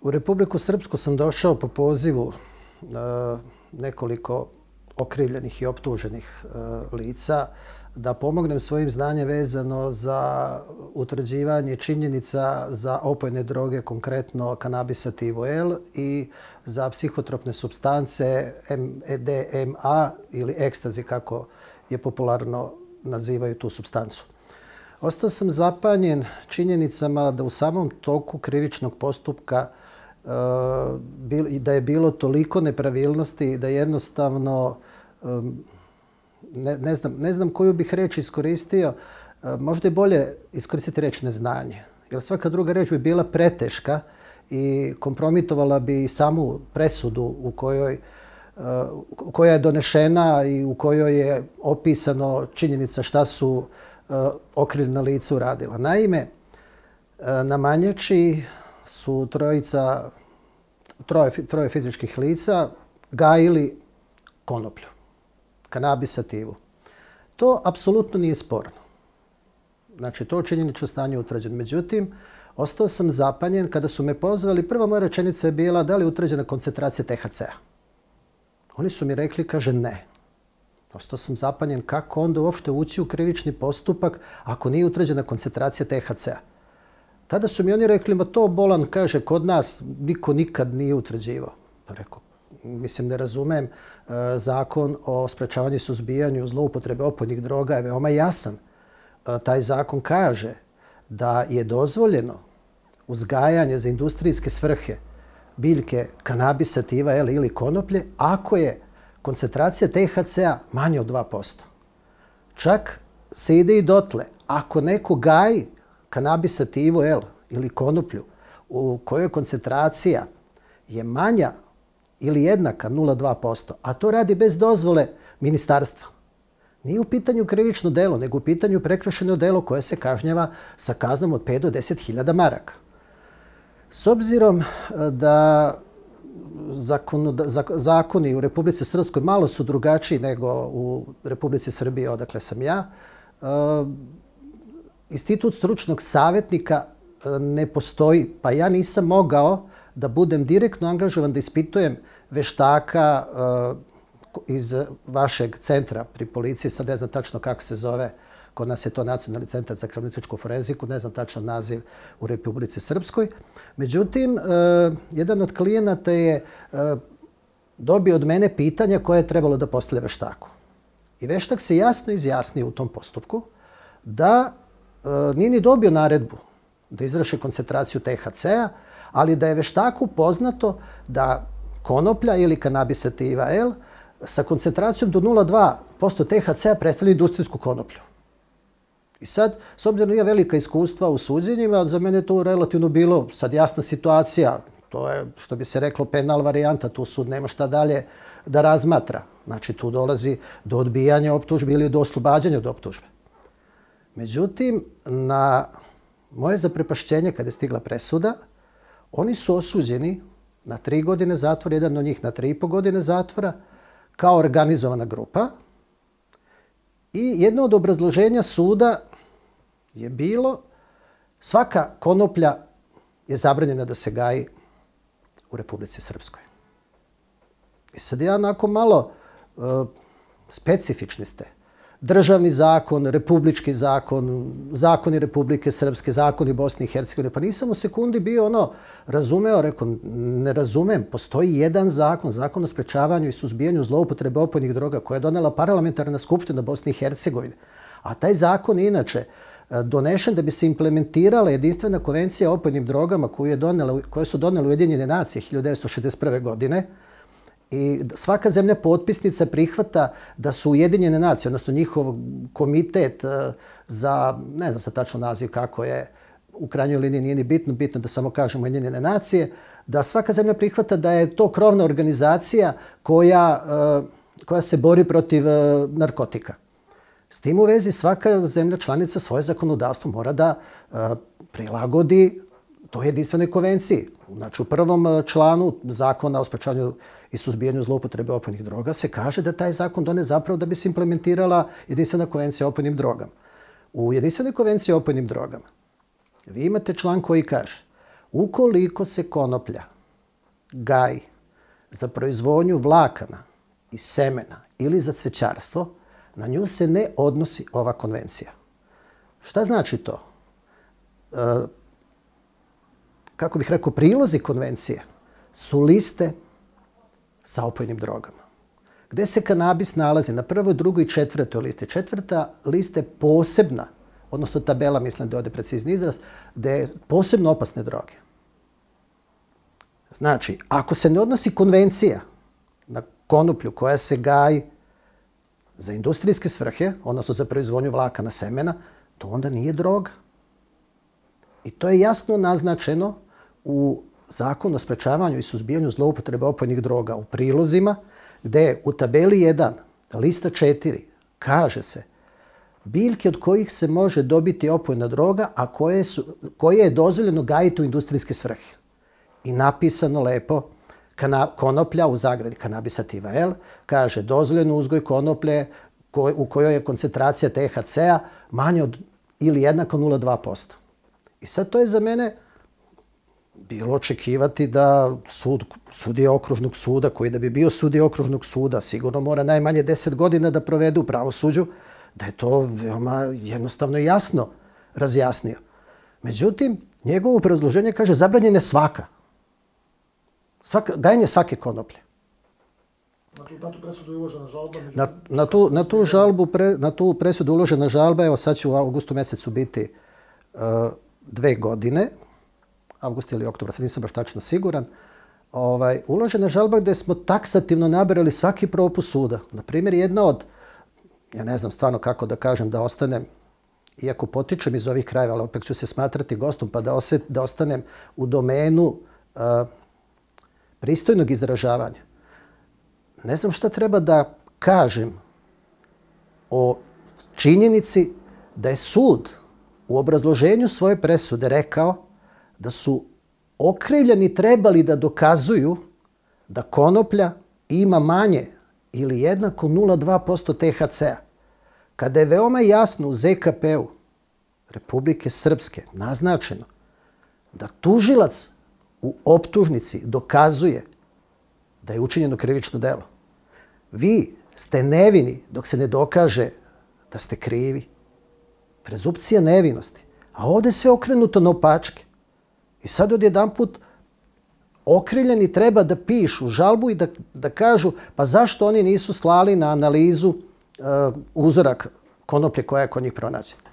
U Republiku Srpsku sam došao po pozivu nekoliko okrivljenih i optuženih lica da pomognem svojim znanjem vezano za utvrđivanje činjenica za opojne droge, konkretno kanabis sativa L i za psihotropne supstance MDMA ili ekstazi, kako je popularno nazivaju tu supstancu. Ostao sam zapanjen činjenicama da u samom toku krivičnog postupka da je bilo toliko nepravilnosti da jednostavno ne znam koju bih reč iskoristio. Možda je bolje iskoristiti reč neznanje. Jer svaka druga reč bi bila preteška i kompromitovala bi samu presudu koja je donešena i u kojoj je opisano činjenica šta su okrivljena lica uradila. Naime, na Manjači su troje fizičkih lica gajili konoplju, kanabis sativu. To apsolutno nije sporno. Znači, to činjenično stanje je utvrđeno. Međutim, ostao sam zapanjen kada su me pozvali. Prva moja rečenica je bila da li je utvrđena koncentracija THC-a. Oni su mi rekli, kaže, ne. Ostao sam zapanjen kako onda uopšte ući u krivični postupak ako nije utvrđena koncentracija THC-a. Tada su mi oni rekli, ma to bolan, kaže, kod nas niko nikad nije utvrđivao. Pa rekao, mislim, ne razumem, zakon o sprečavanju i suzbijanju zloupotrebe opojnih droga je veoma jasan. Taj zakon kaže da je dozvoljeno uzgajanje za industrijske svrhe biljke kanabis sativa L ili konoplje ako je koncentracija THC-a manja od 2%. Čak se ide i dotle. Ako neko gaji kanabis sativu L ili konoplju u kojoj koncentracija je manja ili jednaka 0,2%, a to radi bez dozvole ministarstva. Nije u pitanju krivično delo, nego u pitanju prekršajno delo koje se kažnjava sa kaznom od 5 do 10.000 maraka. S obzirom da zakoni u Republici Srpskoj malo su drugačiji nego u Republici Srbiji, odakle sam ja, institut stručnog savjetnika ne postoji, pa ja nisam mogao da budem direktno angažovan da ispitujem veštaka iz vašeg centra pri policiji, sad ne znam tačno kako se zove, kod nas je to Nacionalni centar za kriminalističku forenziku, ne znam tačan naziv u Republici Srpskoj. Međutim, jedan od klijenata je dobio od mene pitanja koje je trebalo da postavlja veštaku. I veštak se jasno izjasnio u tom postupku da nije ni dobio naredbu da izvrši koncentraciju THC-a, ali da je veštaku poznato da konoplja ili kanabis sativa L sa koncentracijom do 0,2% THC-a predstavlja industrijsku konoplju. I sad, s obzirom da ima velika iskustva u suđenjima, za mene je to relativno bilo sad jasna situacija. To je, što bi se reklo, penal varijanta. Tu sud nema šta dalje da razmatra. Znači, tu dolazi do odbijanja optužbe ili do oslobađanja od optužbe. Međutim, na moje zaprepašćenje, kada je stigla presuda, oni su osuđeni na 3 godine zatvora, jedan od njih na 3,5 godine zatvora, kao organizovana grupa. I jedno od obrazloženja suda je bilo svaka konoplja je zabranjena da se gaji u Republici Srpskoj. I sad ja onako malo specifični ste. Državni zakon, republički zakon, zakoni Republike Srpske, zakoni Bosne i Hercegovine. Pa nisam u sekundi bio razumeo, rekao, ne razumem. Postoji jedan zakon, zakon o sprečavanju i suzbijanju zloupotrebe opojnih droga koje je donela Parlamentarna skupština Bosne i Hercegovine. A taj zakon je inače donešen da bi se implementirala jedinstvena konvencija o opojnim drogama koje su donele Ujedinjene nacije 1961. godine. I svaka zemlja potpisnica prihvata da su Ujedinjene nacije, odnosno njihov komitet za, ne znam sad tačno naziv kako je, u krajnjoj liniji nije ni bitno, bitno da samo kažemo Ujedinjene nacije, da svaka zemlja prihvata da je to krovna organizacija koja se bori protiv narkotika. S tim u vezi svaka zemlja članica svoje zakonodavstvo mora da prilagodi toj jedinstvenoj konvenciji. Znači, u prvom članu zakona o sprečavanju i suzbijanju zloupotrebe opojnih droga se kaže da taj zakon donet zapravo da bi se implementirala jedinstvena konvencija o opojnim drogama. U jedinstvenoj konvenciji o opojnim drogama vi imate član koji kaže Ukoliko se konoplja gaji za proizvodnju vlakana i semena ili za cvećarstvo, na nju se ne odnosi ova konvencija. Šta znači to? Kako bih rekao, prilozi konvencije su liste sa opojnim drogama. Gde se kanabis nalazi? Na prvoj, drugoj i četvrtoj listi. Četvrta lista je posebna, odnosno tabela, mislim da je ovdje precizni izraz, gde je posebno opasne droge. Znači, ako se ne odnosi konvencija na konoplju koja se gaji za industrijske svrhe, odnosno za proizvodnju vlakana semena, to onda nije droga. I to je jasno naznačeno u Zakonu o sprečavanju i suzbijanju zloupotrebe opojnih droga u prilozima, gde u tabeli 1, lista 4, kaže se biljke od kojih se može dobiti opojna droga, a koje je dozvoljeno gajiti u industrijske svrhe. I napisano lepo, konoplja u zagradi Cannabis sativa L, kaže dozvoljeno uzgoj konoplje u kojoj je koncentracija THC-a manja od ili jednako 0,2%. I sad to je za mene bilo očekivati da sudija okružnog suda, koji da bi bio sudija okružnog suda, sigurno mora najmanje 10 godina da provede u pravosuđu, da je to veoma jednostavno i jasno razjasnio. Međutim, njegovo obrazloženje kaže zabranjena je svaka. Gajenje svake konoplje. Na tu presudu je uložena žalba? Na tu presudu uložena žalba, evo sad će u avgustu mesecu biti 2 godine, avgust ili oktobar, sad nisam baš tačno siguran, uložena žalba gde smo taksativno naberali svaki propust suda. Naprimjer, jedna od, ja ne znam stvarno kako da kažem, da ostanem, iako potičem iz ovih krajeva, ali opet ću se smatrati gostom, pa da ostanem u domenu pristojnog izražavanja. Ne znam šta treba da kažem o činjenici da je sud u obrazloženju svoje presude rekao da su okrivljeni trebali da dokazuju da konoplja ima manje ili jednako 0,2% THC-a. Kada je veoma jasno u ZKP-u Republike Srpske naznačeno da tužilac u optužnici dokazuje da je učinjeno krivično delo. Vi ste nevini dok se ne dokaže da ste krivi. Prezumpcija nevinosti. A ovdje je sve okrenuto na opačke. I sad odjedanput okrivljeni treba da pišu žalbu i da kažu pa zašto oni nisu slali na analizu uzorak konoplje koja je kod njih pronađena.